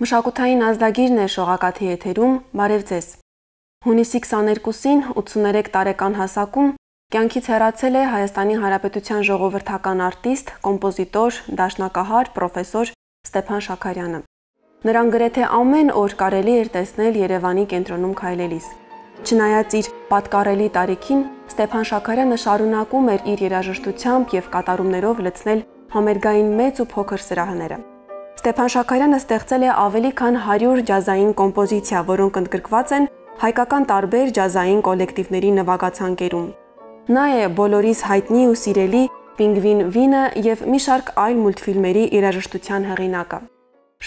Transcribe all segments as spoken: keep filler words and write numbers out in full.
Մշակութային ազդագիրն է շողակաթի եթերում, բարև ձեզ։ Հունիսի քսաներկուսին ութսուներեք տարեկան հասակում կյանքից հեռացել է Հայաստանի Հանրապետության ժողովրդական արտիստ, կոմպոզիտոր, դաշնակահար, պրոֆեսոր Ստեփան Շաքարյանը։ Նրան գրեթե ամեն օր կարելի էր տեսնել Երևանի կենտրոնում քայլելիս։ Չնայած իր պատկառելի տարիքին, Ստեփան Շաքարյանը շարունակում էր իր երաժշտությամբ եւ կատարումներով լցնել համերգային մեծ ու փոքր սրահները։ Ստեփան Շաքարյանը ստեղծել է ավելի քան հարյուր ջազային կոմպոզիցիա, որոնք ընդգրկված են հայկական տարբեր ջազային կոլեկտիվների նվագացանկերում։ Նա է բոլորիս հայտնի ու սիրելի Պինգվին Վինը եւ մի շարք այլ մուլտֆիլմերի երաժշտության հեղինակը։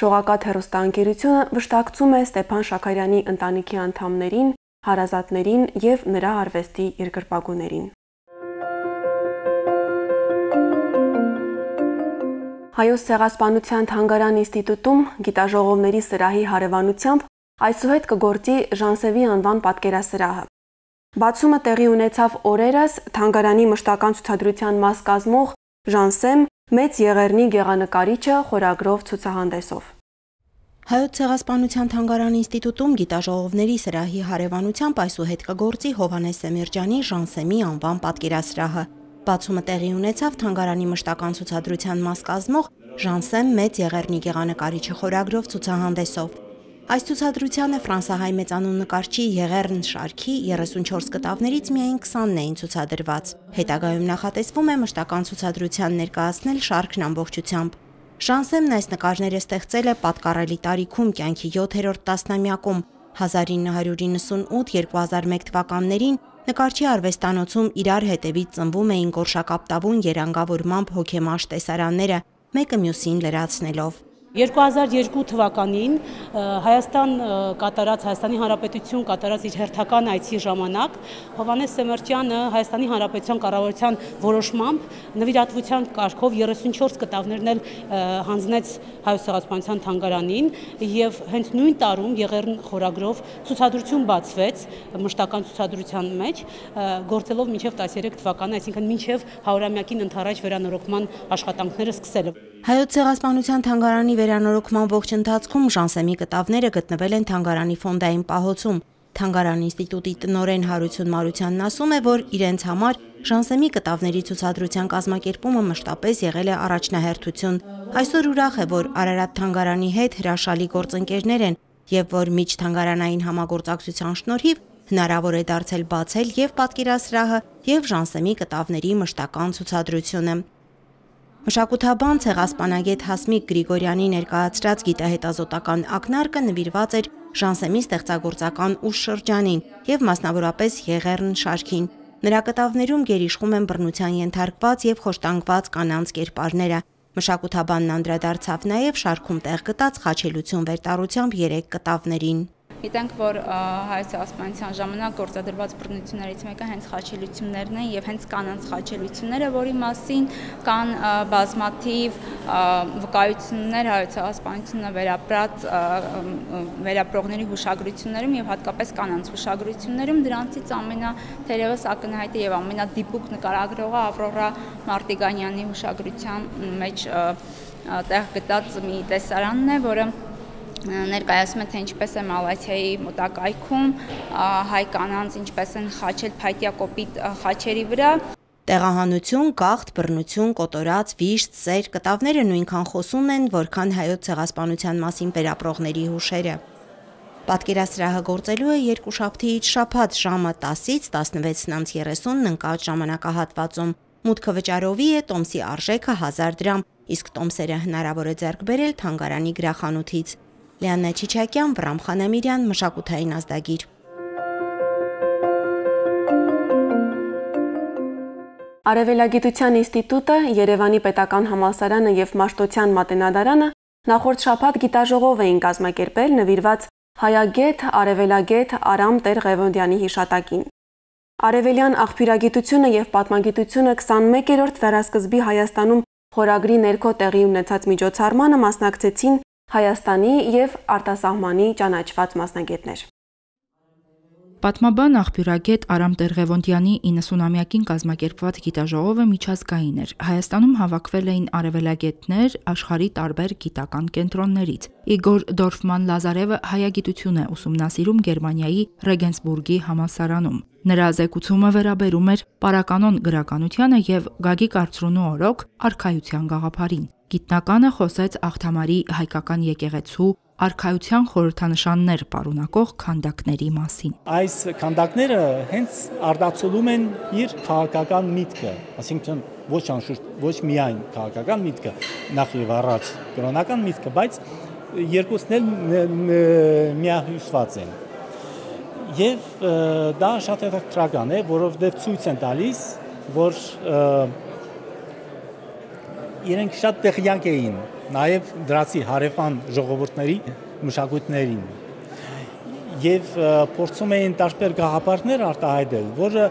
Շողակաթ հեռուստաընկերությունը վշտակցում է Ստեփան Շաքարյանի ընտանիքի անդամներին, հարազատներին եւ նրա արվեստի երկրպագուներին։ Հայոց ցեղասպանության թանգարան ինստիտուտում գիտաժողովների սրահի հարևանությամբ այսուհետ կգործի Ժանսեմի անվան պատկերասրահը։ Բացումը տեղի ունեցավ օրերս թանգարանի մշտական ցուցադրության մաս կազմող Ժանսեմ մեծ եղեռնի գեղանկարիչը խորագրով ցուցահանդեսով։ Հայոց ցեղասպանության թանգարան ինստիտուտում գիտաժողովների սրահի հարևանությամբ այսուհետ կգործի Հովհաննես Սեմիրջյանի Ժանսեմի անվան պատկերասրահը։ Բացումը տեղի ունեցավ թանգարանի մշտական ցուցադրության մաս կազմող Ժանսեմ մեծ եղեռնի գեղանկարիչը խորագրով ցուցահանդեսով։ Այս ցուցադրությանը ֆրանսահայ մեծանուն նկարչի Եղեռն շարքի երեսունչորս կտավներից միայն քսանն էին ցուցադրված։ Հետագայում նախատեսվում է մշտական ցուցադրության ներկայացնել շարքն ամբողջությամբ։ Ժանսեմն այս նկարները ստեղծել է պատկառելի տարիքում կյանքի յոթերորդ տասնամյակում հազար ինը հարյուր իննսունութ - երկու հազար մեկ թվականներին նկարչի արվեստանոցում իրար հետևից ծնվում էին գորշակապտավուն երանգավորմամբ հոգեմաշ տեսարանները, մեկը մյուսին լրացնելով։ երկու հազար երկու թվականին Հայաստան կատարած Հայաստանի Հանրապետություն կատարած իր հերթական այցի ժամանակ Հովհաննես Սեմիրջյանը Հայաստանի Հանրապետության կառավարության որոշմամբ նվիրատվության կարգով երեսունչորս կտավներն էլ հանձնեց Հայոց ցեղասպանության թանգարանին եւ հենց նույն տարում Եղեռն խորագրով ցուցադրություն բացվեց մշտական ցուցադրության մեջ գործելով մինչեւ տասներեք թվականը, այսինքն մինչեւ հարյուրամյակին ընդառաջ վերանորոգման աշխատանքները սկսելը։ Հայոց ցեղասպանության թանգարանի վերանորոգման ողջ ընթացքում Ժանսեմի կտավները գտնվել են թանգարանի ֆոնդային պահոցում։ Թանգարան ինստիտուտի տնօրեն Հարություն Մարությանն ասում է, որ իրենց համար Ժանսեմի կտավների ցուցադրության կազմակերպումը մշտապես եղել է առաջնահերթություն։ Այսօր ուրախ է, որ Արարատ թանգարանի հետ հրաշալի գործընկերներ են եւ որ միջթանգարանային համագործակցության շնորհիվ հնարավոր է դարձել բացել եւ պատկերասրահը եւ Ժանսեմի կտավների մշտական ցուցադրությունը։ Մշակութաբան ցեղասպանագետ Հասմիկ Գրիգորյանի ներկայացրած գիտահետազոտական ակնարկը նվիրված էր Ժանսեմի ստեղծագործական ուշ շրջանին եւ մասնավորապես Եղեռն շարքին։ Նրա կտավներում գերիշխում են բռնության ենթարկված եւ խոշտանգված կանանց կերպարները։ Մշակութաբանն անդրադարձավ նաեւ շարքում տեղ գտած խաչելություն վերտառությամբ երեք կտավներին։ Գիտենք, որ Հայոց ցեղասպանության ժամանակ գործադրված բռնություններից մեկը հենց խաչելություններն են եւ հենց կանանց խաչելությունները, որի մասին կան բազմաթիվ վկայություններ Հայոց ցեղասպանությունը վերապրած վերապրողների հուշագրություններում եւ հատկապես կանանց հուշագրություններում, դրանցից ամենաթերևս ակնհայտը եւ ամենադիպուկ նկարագրողը Ավրորա Մարտիգանյանի հուշագրության մեջ տեղ գտած մի տեսարանն է, որը ներկայացում է, թե ինչպես է Մալաթիայի մոտակայքում հայ կանանց ինչպես են խաչել փայտյա կոպիտ խաչերի վրա։ Տեղահանություն, գաղթ, բռնություն, կոտորած, վիշտ, սեր կտավները նույնքան խոսուն են, որքան հայոց ցեղասպանության մասին վերապրողների հուշերը։ Պատկերասրահը գործելու է երկուշաբթիից շաբաթ ժամը տասից տասնվեցն անց երեսունն ընկած ժամանակահատվածում։ Մուտքը վճարովի է, տոմսի արժեքը հազար դրամ, իսկ տոմսերը հնարավոր է ձեռք բերել թանգարանի գրախանութից։ Լիաննա Չիչակյան, Վռամ Խանամիրյան, Մշակութային ազդագիր։ Արևելագիտության ինստիտուտը, Երևանի պետական համալսարանը եւ Մաշտոցյան մատենադարանը նախորդ շաբաթ գիտաժողով էին կազմակերպել նվիրված հայագետ, արևելագետ Արամ Տեր-Ղևոնդյանի հիշատակին։ Արևելյան աղբյուրագիտությունը եւ պատմագիտությունը քսանմեկերորդ դարաշրջանի Հայաստանում խորագրի ներքո տեղի ունեցած միջոցառմանը մասնակցեցին Հայաստանի եւ արտասահմանի ճանաչված մասնագետներ։ Պատմաբան աղբյուրագետ Արամ Տեր-Ղևոնդյանի իննսունամյակին կազմակերպված գիտաժողովը միջազգային էր։ Հայաստանում հավաքվել էին արևելագետներ աշխարհի տարբեր գիտական կենտրոններից։ Իգոր Դորֆման-Լազարևը հայագիտություն է ուսումնասիրում Գերմանիայի Ռեգենսբուրգի համալսարանում։ Նրա զեկուցումը վերաբերում էր պարականոն գրականությանը եւ Գագիկ Արծրունու օրոք արքայության գաղափարին։ Գիտնականը խոսեց Աղթամարի հայկական եկեղեցու արքայության խորհրդանշաններ պարունակող քանդակների մասին։ Այս քանդակները հենց արտացոլում են իր քաղաքական միտքը, այսինքն ոչ անշուշտ ոչ միայն քաղաքական միտքը, նախ եւ առաջ կրոնական միտքը, բայց երկուսն էլ միահյուսված են։ Եվ դա շատ հետաքրքրական է, որովհետև ցույց են տալիս, որ իրենք շատ տեղյակ էին նաև դրացի հարևան ժողովուրդների մշակույթներին եւ փորձում էին տարբեր գաղափարներ արտահայտել, որը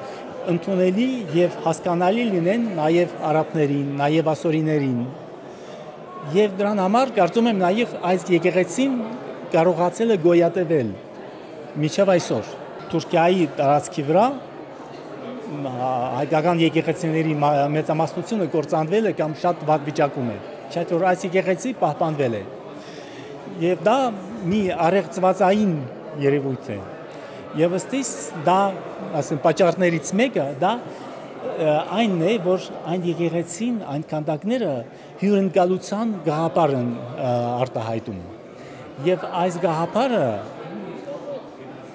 ընդունելի եւ հասկանալի լինեն նաև արաբներին, նաև ասորիներին։ Եվ դրան համար կարծում եմ նաև այս եկեղեցին կարողացել է գոյատևել մինչև այսօր։ Թուրքիայի տարածքի վրա հայկական եկեղեցիների մեծամասնությունը կործանվել է կամ շատ վատ վիճակում է։ Չէ՞ որ այս եկեղեցի պահպանվել է։ Եվ դա մի առեղծվածային երևույթ է։ Եվ ըստիս դա, ասեմ, պատճառներից մեկը դա այն է, որ այն եկեղեցին, այն քանդակները հյուրընկալության գաղափար են արտահայտում։ Եվ այս գաղափարը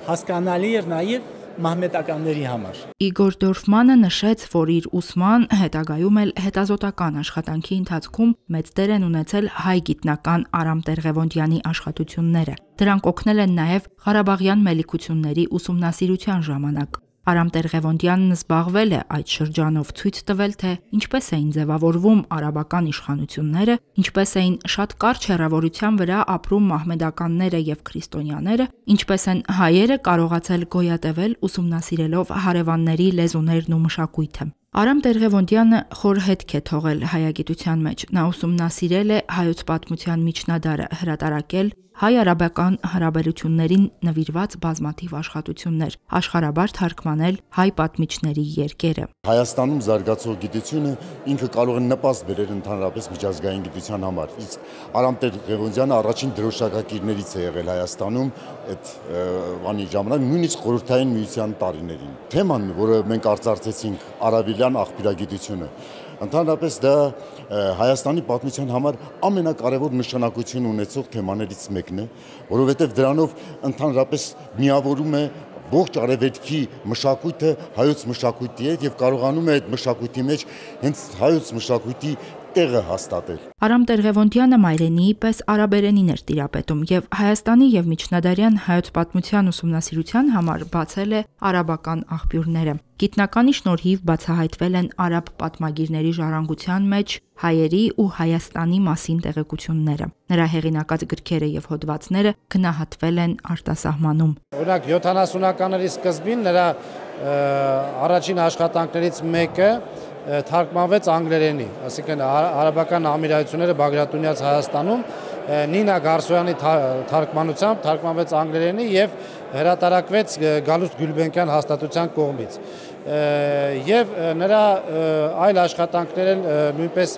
հասկանալի էր նաև մահմեդականների համար։ Իգոր Դորֆմանը նշեց, որ իր ուսման, հետագայում էլ հետազոտական աշխատանքի ընթացքում մեծ դեր են ունեցել հայ գիտնական Արամ Տեր-Ղևոնդյանի աշխատությունները։ Դրանք օգնել են նաև Ղարաբաղյան մելիքությունների ուսումնասիրության ժամանակ։ Արամ Տեր-Ղևոնդյանն զբաղվել է այդ շրջանով, ցույց տվել, թե ինչպես էին ձևավորվում արաբական իշխանությունները, ինչպես էին շատ կարճ հեռավորության վրա ապրում մահմեդականները եւ քրիստոնյաները, ինչպես են հայերը կարողացել գոյատևել ուսումնասիրելով հարևանների լեզուներն ու մշակույթը։ Արամ Տեր-Ղևոնդյանը խոր հետք է թողել հայագիտության մեջ։ Նա ուսումնասիրել է հայոց պատմության միջնադարը, հրատարակել հայ-արաբական հարաբերություններին նվիրված բազմաթիվ աշխատություններ, աշխարհաբար թարգմանել հայ պատմիչների երկերը։ Հայաստանում զարգացող գիտությունը ինքը կարող է նպաստ բերել ընդհանրապես միջազգային գիտության համար։ Իսկ Արամ Տեր-Ղևոնդյանը առաջին դրոշակակիրներից է եղել Հայաստանում այդ բանի ժամանակ, նույնիսկ խորհրդային միության տարիներին։ Թեման, որը մենք արծարծեցինք, արաբիլյան աղբյուրագիտությունը, ընդհանրապես դա Հայաստանի պատմության համար ամենակարևոր նշանակություն ունեցող թեմաներից մեկն է, որովհետև դրանով ընդհանրապես միավորում է ողջ արևելքի մշակույթը հայոց մշակույթի հետ եւ կարողանում է այդ մշակույթի մեջ հենց հայոց մշակույթի տեղը հաստատել։ Արամ Տեր-Ղևոնդյանը մայրենիի պես արաբերենին էր տիրապետում եւ Հայաստանի եւ միջնադարյան հայոց պատմության ուսումնասիրության համար բացել է արաբական աղբյուրները։ Գիտնականի շնորհիվ բացահայտվել են արաբ պատմագիրների ժառանգության մեջ հայերի ու Հայաստանի մասին տեղեկությունները։ Նրա հեղինակած գրքերը եւ հոդվածները գնահատվել են արտասահմանում։ Օրինակ յոթանասունականների սկզբին նրա առաջին աշխատանքներից մեկը թարգմանվեց անգլերենի, այսինքն արաբական ամիրայությունները Բագրատունյաց Հայաստանում Նինա Գարսոյանի թարգմանությամբ թարգմանվեց անգլերենի եւ հրատարակվեց Գալուստ Գյուլբենկյան հաստատության կողմից։ Եվ նրա այլ աշխատանքները նույնպես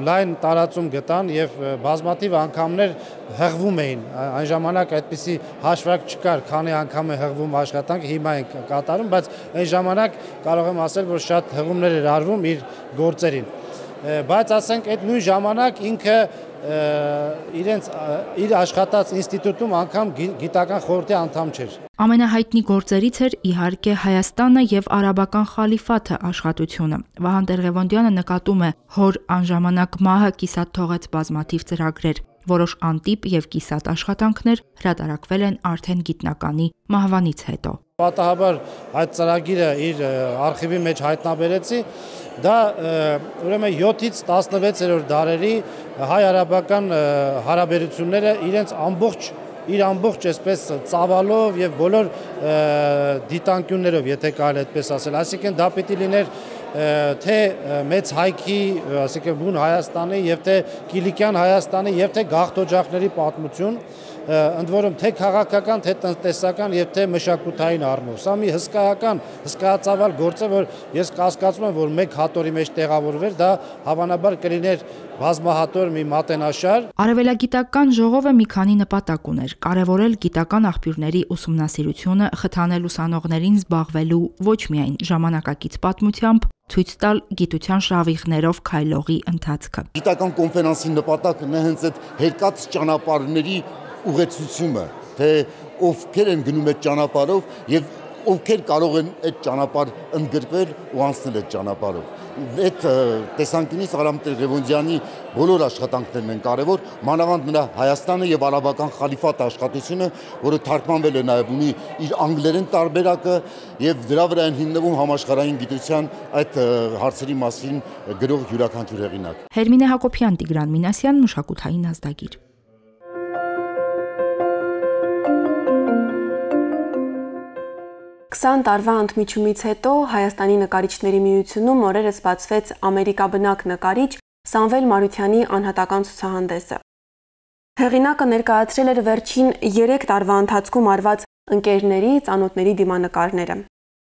լայն տարածում գտան եւ բազմաթիվ անգամներ հղվում էին։ Այն ժամանակ այդպիսի հաշվարկ չկար, քանի անգամ է հղվում աշխատանք, հիմա են կատարում, բայց այն ժամանակ կարող եմ ասել, որ շատ հղումներ էր արվում իր գործերին։ Բայց ասենք այդ նույն ժամանակ ինքը իրենց իր աշխատած ինստիտուտում անգամ գիտական խորհրդի անդամ չէր։ Ամենահայտնի գործերից էր իհարկե Հայաստանը եւ արաբական խալիֆաթը աշխատությունը։ Վահան Տեր-Ղևոնդյանը նկատում է, հոր անժամանակ մահը կիսատ թողեց բազմաթիվ ծրագրեր, որոշ անտիպ եւ կիսատ աշխատանքներ հրատարակվել են արդեն գիտնականի մահվանից հետո։ Պատահաբար այդ ծրագիրը իր արխիվի մեջ հայտնաբերեցի, դա ուրեմն յոթից տասնվեցերորդ դարերի հայ-արաբական հարաբերությունները իրենց ամբողջ իր ամբողջ այսպես ծավալով եւ բոլոր դիտանկյուններով, եթե կարելի այդպես ասել, այսինքն դա պիտի լիներ թե մեծ հայքի, այսինքն բուն Հայաստանի եւ թե Կիլիկյան Հայաստանի եւ թե գաղթօջախների պատմություն ընդ որում թե քաղաքական, թե տնտեսական եւ թե մշակութային առումով։ Սա մի հսկայական, հսկայածավալ գործ է, որ ես կասկածում եմ, որ մեկ հատորի մեջ տեղավորվեր, դա հավանաբար կլիներ բազմահատոր մի մատենաշար։ Արևելագիտական ժողովը մի քանի նպատակ ուներ՝ կարևորել գիտական աղբյուրների ուսումնասիրությունը, խթանել ուսանողներին զբաղվելու ոչ միայն ժամանակակից պատմությամբ, ցույց տալ գիտության շավիղներով քայլողի ընթացքը։ Գիտական կոնֆերանսի նպատակն է հենց այդ հերկած ճանապարհների ուղեցությունը, թե ովքեր են գնում այդ ճանապարհով եւ ովքեր կարող են այդ ճանապարհ ընդգրկվել ու անցնել այդ ճանապարհով։ Այդ տեսանկյունից Արամ Տեր-Ղևոնդյանի բոլոր աշխատանքներն են կարևոր, մանավանդ նրա Հայաստանը եւ արաբական խալիֆատ աշխատությունը, որը թարգմանվել է նաեւ ունի իր անգլերեն տարբերակը եւ դրա վրա են հիմնվում համաշխարհային գիտության այդ հարցերի մասին գրող յուրաքանչյուր հեղինակ։ Հերմինե Հակոբյան, Տիգրան Մինասյան, մշակութային ազդագիր։ քսան տարվա ընդմիջումից հետո Հայաստանի նկարիչների միությունում օրերս բացվեց ամերիկաբնակ նկարիչ Սամվել Մարությանի անհատական ցուցահանդեսը։ Հեղինակը ներկայացրել էր վերջին երեք տարվա ընթացքում արված ընկերների, ծանոթների դիմանկարները։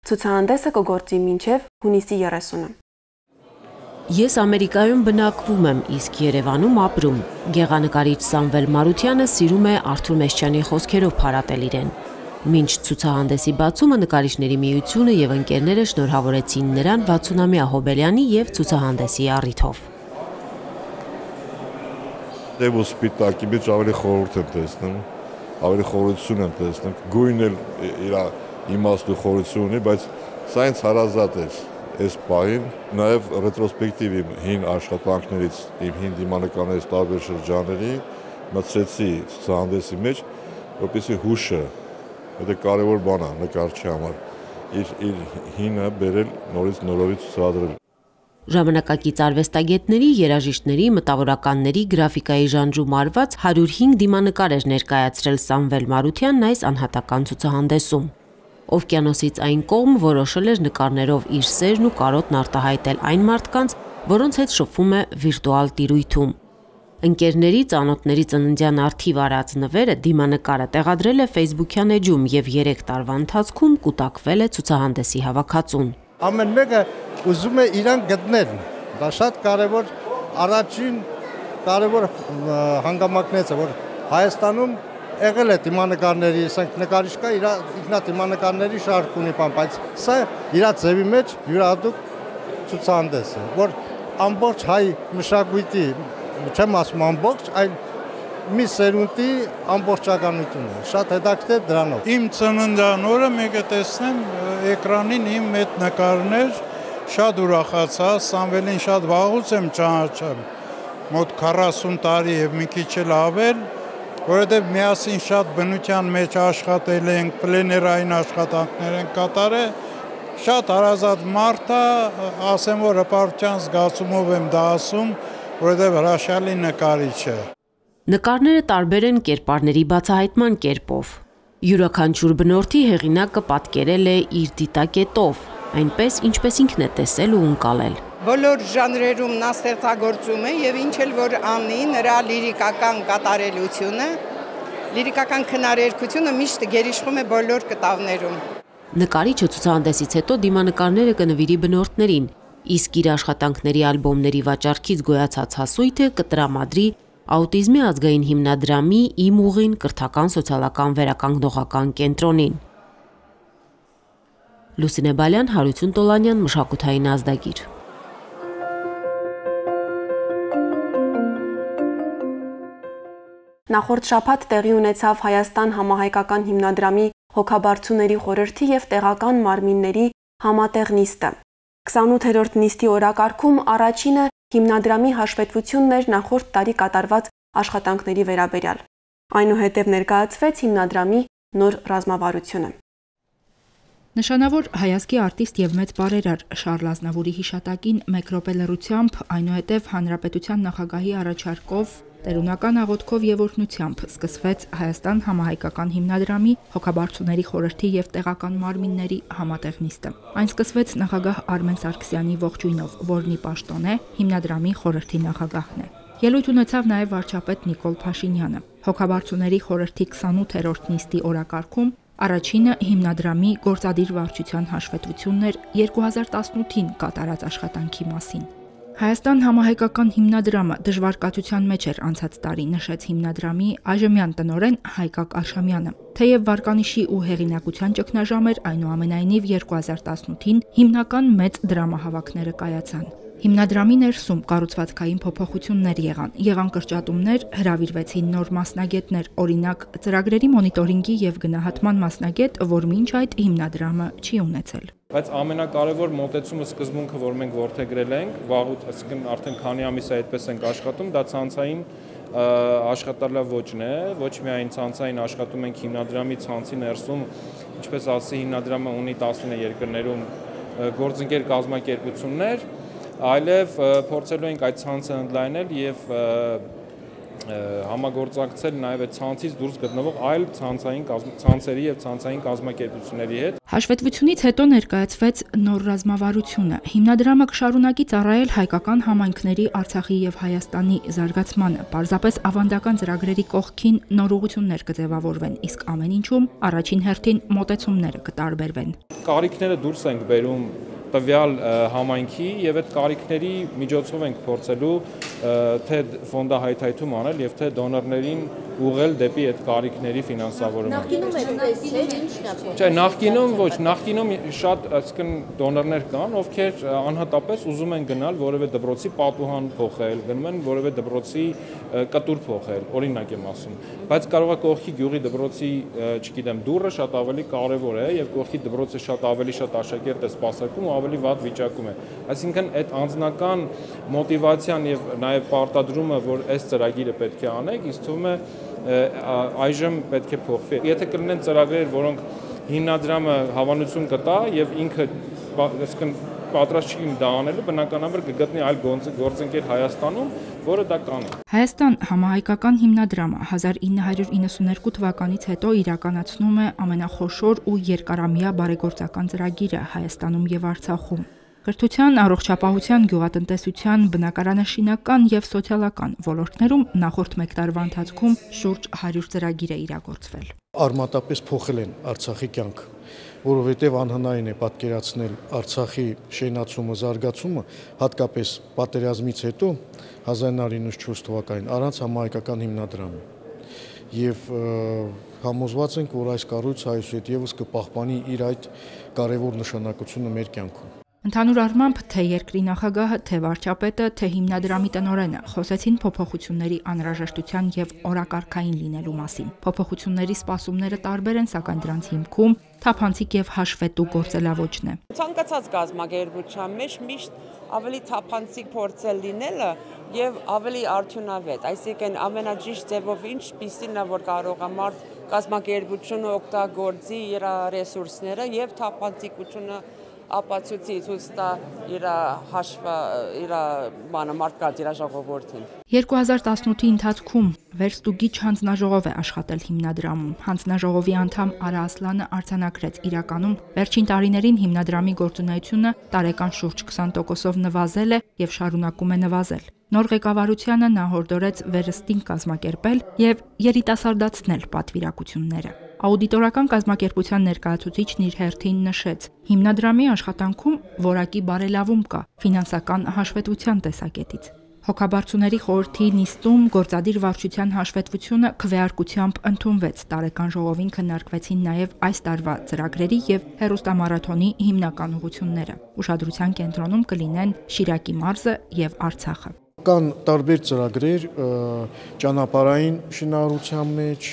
Ցուցահանդեսը կգործի մինչև հունիսի երեսունը։ Ես Ամերիկայում բնակվում եմ, իսկ Երևանում ապրում։ Գեղանկարիչ Սամվել Մարությանը սիրում է Արթուր Մեսչյանի խոսքերով փառատել իրեն։ Մինչ ցուցահանդեսի բացումը նկարիչների միությունը եւ ընկերները շնորհավորեցին նրան վաթսունամյա հոբելյանի եւ ցուցահանդեսի առիթով։ Դեւ ու սպիտակի մեջ ավելի խորհուրդ եմ տեսնում, ավելի խորհրդություն եմ տեսնում, գույնն էլ իր իմաստու խորհրդություն ունի, բայց սա ինձ հարազատ էր այս պահին, նաեւ ռետրոսպեկտիվ իմ հին աշխատանքներից, իմ հին դիմանկարներից տարբեր շրջանների մտցրեցի ցուցահանդեսի մեջ, որպեսզի հուշը Դա կարևոր բան է նկարչի համար, իր իր հինը բերել նորից նորովից ցուցադրել։ Ժամանակակից արվեստագետների, երաժիշտների, մտավորականների գրաֆիկայի ժանրում արված հարյուր հինգ դիմանկար էր ներկայացրել Սամվել Մարությանն այս անհատական ցուցահանդեսում։ Օվկիանոսից այն կողմ որոշել էր նկարներով իր սերն ու կարոտն արտահայտել այն մարդկանց, որոնց հետ շփվում է վիրտուալ տիրույթում։ Ընկերների, ծանոթների ծննդյան արդիվ արած նվերը դիմանկարը տեղադրել է Facebook-յան էջում եւ երեք տարվա ընթացքում կուտակվել է ցուցահանդեսի հավաքածուն։ Ամեն մեկը ուզում է իրան գտնել։ Դա շատ կարևոր առաջին կարևոր հանգամանքներից է, որ Հայաստանում եղել է դիմանկարների, ասենք նկարիչ կա, իր ինքնադիմանկարների շարք ունի, բայց սա իր ձևի մեջ յուրահատուկ ցուցահանդես է, որ ամբողջ հայ մշակույթի չեմ ասում ամբողջ, այլ մի սերունդի ամբողջականություն է, շատ հետաքրքիր դրանով։ Իմ ծննդյան օրը մեկը տեսնեմ էկրանին իմ այդ նկարներ, շատ ուրախացա, Սամվելին շատ վաղուց եմ ճանաչում, մոտ քառասուն տարի եւ մի քիչ էլ ավել, որովհետեւ միասին շատ բնության մեջ աշխատել ենք, պլեներային աշխատանքներ ենք կատարել, շատ հարազատ մարդ է, ասեմ որ հպարտության զգացումով եմ դա ասում, որովհետև հրաշալի նկարիչ է։ Նկարները տարբեր են կերպարների բացահայտման կերպով։ Յուրաքանչյուր բնորդի հեղինակը պատկերել է իր դիտակետով, այնպես ինչպես ինքն է տեսել ու ընկալել։ Բոլոր ժանրերում նա ստեղծագործում է եւ ինչ էլ որ անի, նրա լիրիկական կատարելությունը, լիրիկական քնարերգությունը միշտ գերիշխում է բոլոր կտավներում։ Նկարիչը ցուցահանդեսից հետո դիմանկարները կնվիրի բնորդներին, իսկ իր աշխատանքների ալբոմների վաճառքից գոյացած հասույթը կտրամադրի Աուտիզմի ազգային հիմնադրամի «Իմ ուղին» կրթական սոցիալական վերականգնողական կենտրոնին։ Լուսինե Բալյան, Հարություն Տոլանյան, մշակութային ազդագիր։ Նախորդ շաբաթ տեղի ունեցավ Հայաստան համահայկական հիմնադրամի հոգաբարձուների խորհրդի եւ տեղական մարմինների համատեղ նիստը։ քսանութերորդ նիստի օրակարգում առաջինը հիմնադրամի հաշվետվությունն էր նախորդ տարի կատարված աշխատանքների վերաբերյալ։ Այնուհետև ներկայացվեց հիմնադրամի նոր ռազմավարությունը։ Նշանավոր հայազգի արտիստ եւ մեծ բարերար Շարլ Ազնավուրի հիշատակին մեկ րոպե լռությամբ, այնուհետև Հանրապետության նախագահի առաջարկով տերունական աղոթքով եւ օրհնությամբ սկսվեց Հայաստան համահայկական հիմնադրամի հոգաբարձուների խորհրդի եւ տեղական մարմինների համատեղ նիստը։ Այն սկսվեց նախագահ Արմեն Սարգսյանի ողջույնով, որն ի պաշտոն է հիմնադրամի խորհրդի նախագահն է։ Ելույթ ունեցավ նաև վարչապետ Նիկոլ Փաշինյանը։ Հոգաբարձուների խորհրդի քսանութերորդ նիստի օրակարգում առաջինը հիմնադրամի գործադիր վարչության հաշվետվությունն էր երկու հազար տասնութին կատարած աշխատանքի մասին։ Հայաստան համահայկական հիմնադրամը դժվարկացության մեջ էր անցած տարի, նշեց հիմնադրամի այժմյան տնօրեն Հայկակ Արշամյանը։ Թեև վարկանիշի ու հեղինակության ճգնաժամ էր, այնուամենայնիվ երկու հազար տասնութին հիմնական մեծ դրամահավաքները կայացան։ Հիմնադրամի ներսում կառուցվածքային փոփոխություններ եղան, եղան կրճատումներ, հրավիրվեցին նոր մասնագետներ, օրինակ ծրագրերի մոնիտորինգի եւ գնահատման մասնագետ, որ մինչ այդ հիմնադրամը չի ունեցել։ Բայց ամենակարևոր մոտեցումը սկզբունքը, որ մենք որդեգրել ենք, վաղուց, այսինքն արդեն քանի ամիս է այդպես ենք աշխատում, դա ցանցային աշխատալավոճն է, ոչ միայն ցանցային աշխատում ենք հիմնադրամի ցանցի ներսում, ինչպես ասի հիմնադրամը ունի տասնինը երկրներում գործընկեր կազմակերպություններ, այլև փորձելու ենք այդ ցանցը ընդլայնել եւ համագործակցել նաև այդ ցանցից դուրս գտնվող այլ ցանցային ցանցերի եւ ցանցային կազմակերպությունների հետ։ Հաշվետվությունից հետո ներկայացվեց նոր ռազմավարությունը։ Հիմնադրամը կշարունակի ծառայել հայկական համայնքների Արցախի եւ Հայաստանի զարգացմանը։ Պարզապես ավանդական ծրագրերի կողքին նոր ուղղություններ կձևավորվեն, իսկ ամեն ինչում առաջին հերթին մոտեցումները կտարբերվեն։ Կարիքները դուրս ենք բերում տվյալ համայնքի եւ այդ կարիքների միջոցով ենք փորձելու թե ֆոնդահայթայթում անել եւ թե դոնորներին ուղղել դեպի այդ կարիքների ֆինանսավորումը։ Նախկինում այդպես չէ, ի՞նչն է։ Չէ, նախկինում ոչ, նախկինում շատ, այսինքն դոնորներ կան, ովքեր անհատապես ուզում են գնալ որևէ դպրոցի պատուհան փոխել, գնում են որևէ դպրոցի կտուր փոխել, օրինակ եմ ասում։ Բայց կարող է կողքի գյուղի դպրոցի, չգիտեմ, դուռը շատ ավելի կարևոր է եւ կողքի դպրոցը շատ ավելի շատ աշակերտ է սպասարկում ու ավելի վատ վիճակում է։ Այսինքն այդ անձնական մոտիվացիան եւ նաեւ պարտադրումը, որ այս ծրագիրը պետք է անեք, ինձ թվում է այժմ պետք է փոխվի։ Եթե կլինեն ծրագրեր, որոնք հիմնադրամը հավանություն կտա եւ ինքը այսինքն պատրաստ չի դա անելու, բնականաբար կգտնի այլ գործընկեր Հայաստանում, որը դա կանի։ Հայաստան համահայկական հիմնադրամը հազար ինը հարյուր իննսուններկու թվականից հետո իրականացնում է ամենախոշոր ու երկարամյա բարեգործական ծրագիրը Հայաստանում եւ Արցախում։ Կրթության, առողջապահության, գյուղատնտեսության, բնակարանաշինական եւ սոցիալական ոլորտներում նախորդ մեկ տարվա ընթացքում շուրջ հարյուր ծրագիր է իրագործվել։ Արմատապես փոխել են Արցախի կյանքը, որովհետև անհնարին է պատկերացնել Արցախի շենացումը, զարգացումը, հատկապես պատերազմից հետո հազար ինը հարյուր իննսունչորս թվականին առանց համահայկական հիմնադրամի։ Եվ համոզված ենք, որ այս կառույցը այսուհետ եւս կպահպանի իր այդ կարևոր նշանակությունը մեր կյանքում։ Ընդհանուր առմամբ թե երկրի նախագահը, թե վարչապետը, թե հիմնադրամի տնօրենը խոսեցին փոփոխությունների անհրաժեշտության եւ օրակարգային լինելու մասին։ Փոփոխությունների սպասումները տարբեր են, սակայն դրանց հիմքում թափանցիկ եւ հաշվետու գործելավոճն է։ Ցանկացած կազմակերպության մեջ միշտ ավելի թափանցիկ փորձել լինելը եւ ավելի արդյունավետ, այսինքն ամենաճիշտ ձևով ինչպիսին է, որ կարող է մարդ կազմակերպությունը օգտագործի իր ռեսուրսները եւ թափանցիկությունը ապացույցի ցույց տա իր հաշվը, իր բանը մարդկա իր ժողովրդին։ երկու հազար տասնութի ընթացքում վերստուգիչ հանձնաժողով է աշխատել հիմնադրամում։ Հանձնաժողովի անդամ Արա Ասլանը արձանագրեց իրականում վերջին տարիներին հիմնադրամի գործունեությունը տարեկան շուրջ քսան տոկոսով նվազել է եւ շարունակում է նվազել։ Նոր ղեկավարությանը նա հորդորեց վերստին կազմակերպել եւ երիտասարդացնել պատվիրակությունները։ Աուդիտորական կազմակերպության ներկայացուցիչն իր հերթին նշեց. հիմնադրամի աշխատանքում որակի բարելավում կա ֆինանսական հաշվետվության տեսակետից։ Հոգաբարձուների խորհրդի նիստում գործադիր վարչության հաշվետվությունը քվեարկությամբ ընդունվեց։ Տարեկան ժողովին քննարկվեցին նաև այս տարվա ծրագրերի եւ հեռուստամարաթոնի հիմնական ուղղությունները։ Ուշադրության կենտրոնում կլինեն Շիրակի մարզը եւ Արցախը։ Կան տարբեր ծրագրեր ճանապարհային շինարարության մեջ,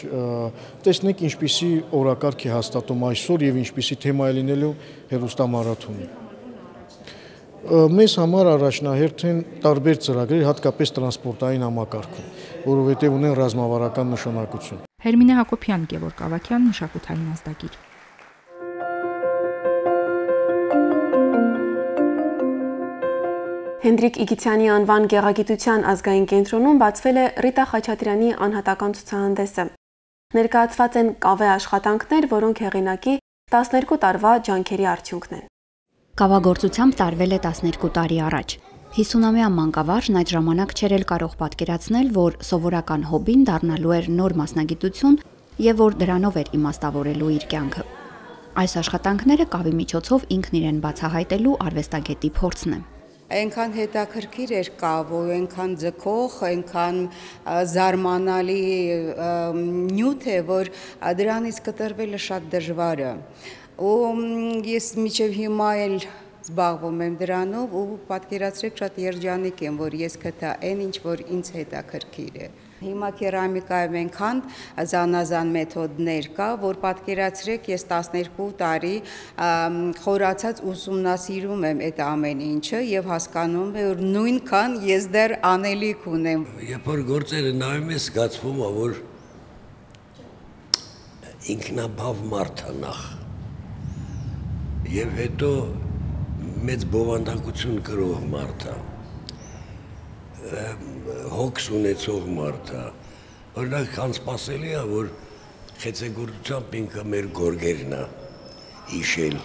տեսնենք ինչպիսի օրակարգ է հաստատում այսօր եւ ինչպիսի թեմա է լինելու հեռուստամարաթոնը։ Մեզ համար առաջնահերթ են տարբեր ծրագրեր, հատկապես տրանսպորտային համակարգում, որովհետև ունեն ռազմավարական նշանակություն։ Հերմինե Հակոբյան, Գևորգ Ավագյան, մշակութային ազդագիր։ Հենդրիկ Իգիթյանի անվան գեղագիտության ազգային կենտրոնում բացվել է Ռիտա Խաչատրյանի անհատական ցուցահանդեսը։ Ներկայացված են կավե աշխատանքներ, որոնք հեղինակի տասներկու տարվա ջանքերի արդյունքն են։ Կավագործությամբ տարվել է տասներկու տարի առաջ։ հիսունամյա մանկավարժն այդ ժամանակ չէր էլ կարող պատկերացնել, որ սովորական հոբին դառնալու էր նոր մասնագիտություն եւ որ դրանով էր իմաստավորելու իր կյանքը։ Այս աշխատանքները կավի միջոցով ինքն իրեն բացահայտելու արվեստագետի փորձն է։ Այնքան հետաքրքիր էր կավը, այնքան ձգող, այնքան զարմանալի նյութ է, որ դրանից կտրվելը շատ դժվար է։ Ու ես մինչև հիմա էլ զբաղվում եմ դրանով ու պատկերացրեք շատ երջանիկ եմ, որ ես գտա այն ինչ որ ինձ հետաքրքիր է։ Հիմա կերամիկայում այնքան զանազան մեթոդներ կա, որ պատկերացրեք ես տասներկու տարի խորացած ուսումնասիրում եմ այդ ամեն ինչը եւ հասկանում եմ, որ նույնքան ես դեռ անելիք ունեմ։ Երբ որ գործերը նայում ես, զգացվում է, որ ինքնաբավ մարդ է նախ։ Եվ հետո մեծ բովանդակություն կրող մարդ է, հոգս ունեցող մարդ է, օրինակ անսպասելի է, որ խեցեգործությամբ ինքը մեր գորգերն է հիշել,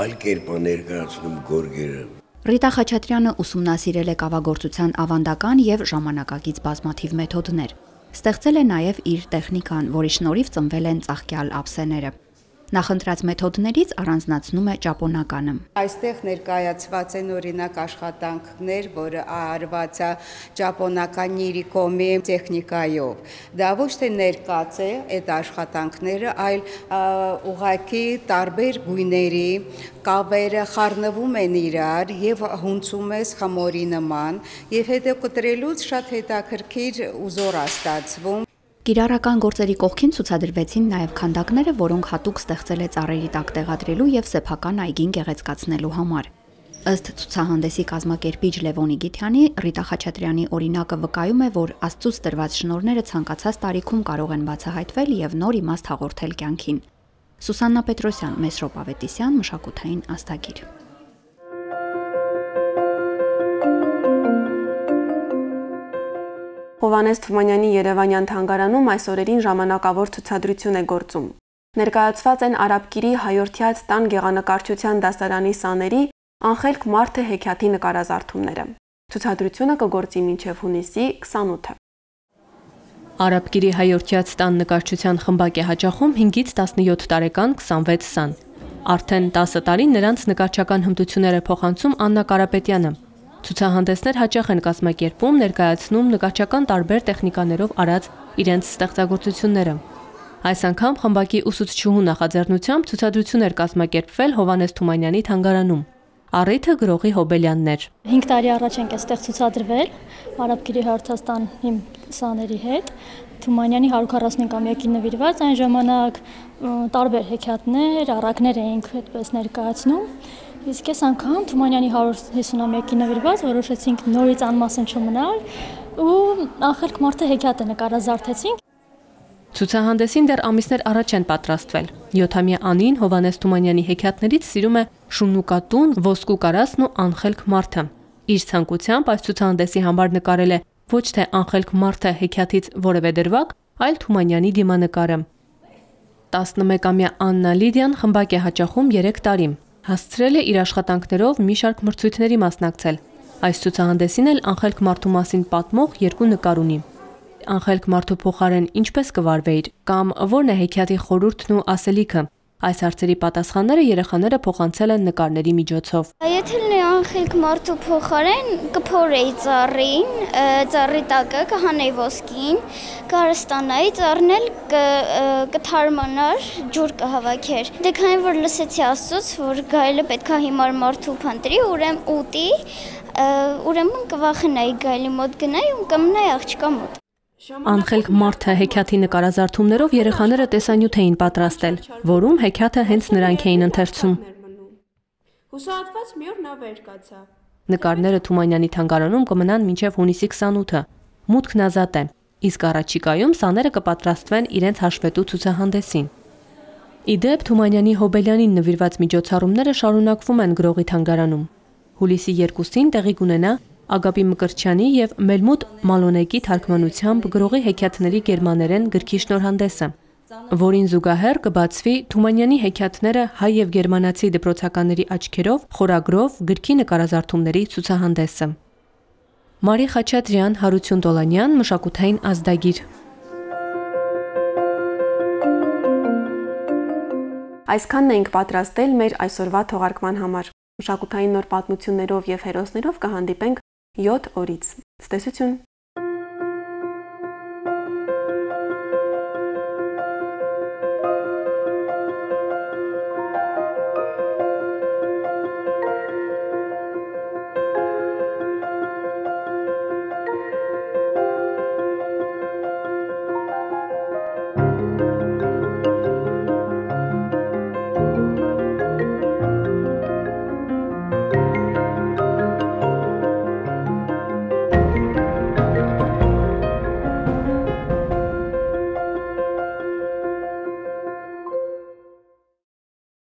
այլ կերպ է ներկայացնում գորգերը։ Ռիտա Խաչատրյանը ուսումնասիրել է կավագործության ավանդական եւ ժամանակակից բազմաթիվ մեթոդներ։ Ստեղծել է նաեւ իր տեխնիկան, որի շնորհիվ ծնվել են ծաղկյալ ափսեները։ Նախընտրած մեթոդներից առանձնացնում է ճապոնականը։ Այստեղ ներկայացված են օրինակ աշխատանքներ, որը արված է ճապոնական նիրիկոմի տեխնիկայով։ Դա ոչ թե ներկած է այդ աշխատանքները, այլ ուղղակի տարբեր գույների կավերը խառնվում են իրար եւ հունցում ես խմորի նման եւ հետո կտրելուց շատ հետաքրքիր ուզոր է ստացվում։ Կիրառական գործերի կողքին ցուցադրվեցին նաև քանդակները, որոնք հատուկ ստեղծել է ծառերի տակ տեղադրելու եւ սեփական այգին գեղեցկացնելու համար։ Ըստ ցուցահանդեսի կազմակերպիչ Լևոնի Գիթյանի, Ռիտա Խաչատրյանի օրինակը վկայում է, որ Աստծուց տրված շնորհները ցանկացած տարիքում կարող են բացահայտվել եւ նոր իմաստ հաղորդել կյանքին։ Սուսաննա Պետրոսյան, Մեսրոպ Ավետիսյան, Մշակութային աստագիր։ Հովհաննես Թումանյանի Երևանյան թանգարանում այս օրերին ժամանակավոր ցուցադրություն է գործում։ Ներկայացված են Արաբկիրի հայորդյաց տան գեղանկարչության դասարանի սաների Անխելք մարդը հեքիաթի նկարազարդումները։ Ցուցադրությունը կգործի մինչև հունիսի քսանութը։ Արաբկիրի հայորդյաց տան նկարչության խմբակ է հաճախում հինգից տասնյոթ տարեկան քսանվեց սան։ Արդեն տասը տարի նրանց նկարչական հմտությունները փոխանցում Աննա Կարապետյանը։ Ցուցահանդեսներ հաճախ են կազմակերպում, ներկայացնում նկարչական տարբեր տեխնիկաներով արած իրենց ստեղծագործությունները։ Այս անգամ խմբակի ուսուցչուհու նախաձեռնությամբ ցուցադրություն էր կազմակերպվել Հովհաննես Թումանյանի թանգարանում։ Առիթը գրողի Հոբելյանն էր։ հինգ տարի առաջ ենք այստեղ ցուցադրվել Արաբկիրի հայորդյաց իմ սաների հետ։ Թումանյանի հարյուր քառասունամյակին նվիրված այն ժամանակ տարբեր հեքիաթներ, առակներ էինք այդպես ներկայացնում։ Իսկ այս անգամ Թումանյանի հարյուր հիսունամյակին նվիրված որոշեցինք նորից անմասն չմնալ ու Անխելք մարդը հեքիաթը նկարազարդեցինք։ Ցուցահանդեսին դեռ ամիսներ առաջ են պատրաստվել։ յոթամյա Անին Հովհաննես Թումանյանի հեքիաթներից սիրում է Շուննուկատուն, Ոսկու կարասն ու Անխելք մարդը։ Իր ցանկությամբ այս ցուցահանդեսի համար նկարել է ոչ թե Անխելք մարդը հեքիաթից որևէ դրվագ, այլ Թումանյանի դիմանկարը։ տասնմեկամյա Աննա Լիդիան խմբակ է հաճախում երեք տարի։ Հասցրել է իր աշխատանքներով մի շարք մրցույթների մասնակցել։ Այս ցուցահանդեսին էլ Անխելք մարդու մասին պատմող երկու նկար ունի։ Անխելք մարդու փոխարեն ինչպես կվարվեիր կամ ո՞րն է հեքիաթի խորհուրդն ու ասելիքը։ Այս հարցերի պատասխանները երեխաները փոխանցել են նկարների միջոցով։ Եթե լինի Անխելք մարդու փոխարեն կփորեի ծառին, ծառի տակը կհանեի ոսկին, կարստանայի ծառն էլ կթարմանար, ջուր կհավաքեր։ Դե քանի որ լսեցի Աստծուց, որ գայլը պետքա հիմար մարդու փնտրի, ուրեմն ուտի, ուրեմն կվախենայի գայլի մոտ գնայի ու կմնայի աղջկա մոտ։ Անխելք մարդը հեքիաթի նկարազարդումներով երեխաները տեսանյութ էին պատրաստել, որում հեքիաթը հենց նրանք էին ընթերցում։ Հուսահատված մի օր նա վեր կացավ։ Նկարները Թումանյանի թանգարանում կմնան մինչև հունիսի քսանութը։ Մուտքն ազատ է, իսկ առաջիկայում սաները կպատրաստվեն իրենց հաշվետու ցուցահանդեսին։ Իդեպ Թումանյանի Հոբելյանին նվիրված միջոցառումները շարունակվում են գրողի թանգարանում։ Հուլիսի երկուսին տեղի կունենա Ագապի Մկրտչյանի եւ Մելմուտ Մալոնեկի թարգմանությամբ գրողի հեքիաթների գերմաներեն գրքի շնորհանդեսը։ որին զուգահեռ կբացվի Թումանյանի հեքիաթները հայ եւ գերմանացի դպրոցականների աչքերով խորագրով գրքի նկարազարդումների ցուցահանդեսը։ Մարի Խաչատրյան, Հարություն Տոլանյան, Մշակութային ազդագիր։ Այսքանն ենք պատրաստել մեր այսօրվա թողարկման համար։ Մշակութային նոր պատմություններով եւ հերոսներով կհանդիպենք յոթ օրից։ Ցտեսություն։